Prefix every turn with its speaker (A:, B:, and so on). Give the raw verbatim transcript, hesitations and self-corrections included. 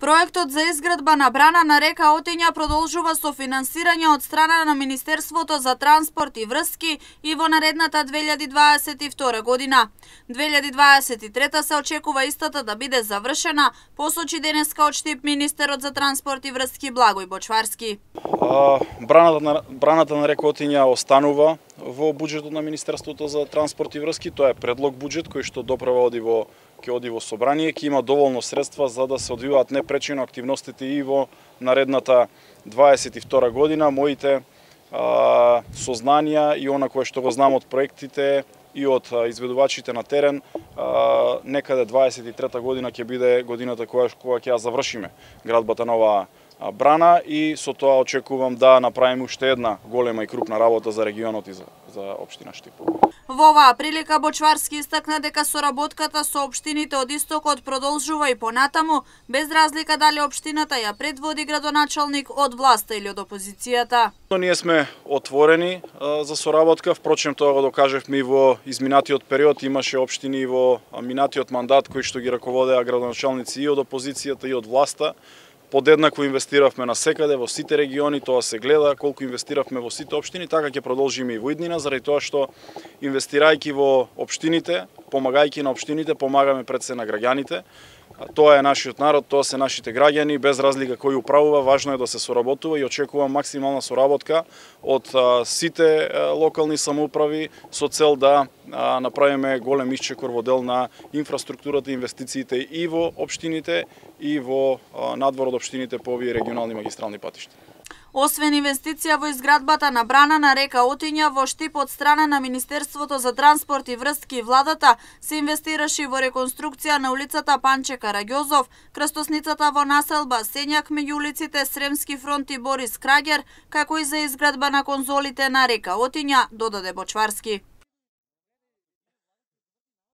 A: Проектот за изградба на брана на река Отиња продолжува со финансирање од страна на Министерството за транспорт и врски и во наредната две илјади дваесет и втора година. две илјади дваесет и трета се очекува истата да биде завршена, посочи денеска од Штип министерот за транспорт и врски Благој Бочварски.
B: А, браната, на, браната на река Отиња останува во буџетот на Министерството за транспорт и врски. Тоа е предлог буџет кој што доправа оди во ќе оди во собрание, ќе има доволно средства за да се одвиваат непречено активностите и во наредната дваесет и втора година. Моите а, сознанија и она кое што го знам од проектите и од изведувачите на терен, а, некаде дваесет и трета година ќе биде годината која кога ќе ја завршиме градбата на оваа брана и со тоа очекувам да направиме уште една голема и крупна работа за регионот и за, за општина Штип.
A: Во оваа прилика Бочварски истакна дека соработката со општините од истокот продолжува и понатаму, без разлика дали општината ја предводи градоначалник од власта или од опозицијата.
B: Ние сме отворени а, за соработка, впрочем тоа го докажевме и во изминатиот период. Имаше општини во минатиот мандат кои што ги раководеа градоначалници и од опозицијата и од власта. Подеднакво инвестиравме на секаде, во сите региони, тоа се гледа, колку инвестиравме во сите општини, така ќе продолжиме и во иднина, заради тоа што инвестирајќи во општините, помагајќи на општините, помагаме пред се на граѓаните. Тоа е нашиот народ, тоа се нашите граѓани, без разлика кој управува, важно е да се соработува и очекувам максимална соработка од а, сите а, локални самоуправи со цел да а, направиме голем исчекор во дел на инфраструктурата и инвестициите и во општините и во а, надвор од општините по овие регионални магистрални патишта.
A: Освен инвестиција во изградбата на брана на река Отиња во Штип од страна на Министерството за транспорт и врски и владата, се инвестираше во реконструкција на улицата Панче Караѓозов, крстосницата во населба Сењак меѓу улиците Сремски фронт и Борис Крагер, како и за изградба на конзолите на река Отиња, додаде Бочварски.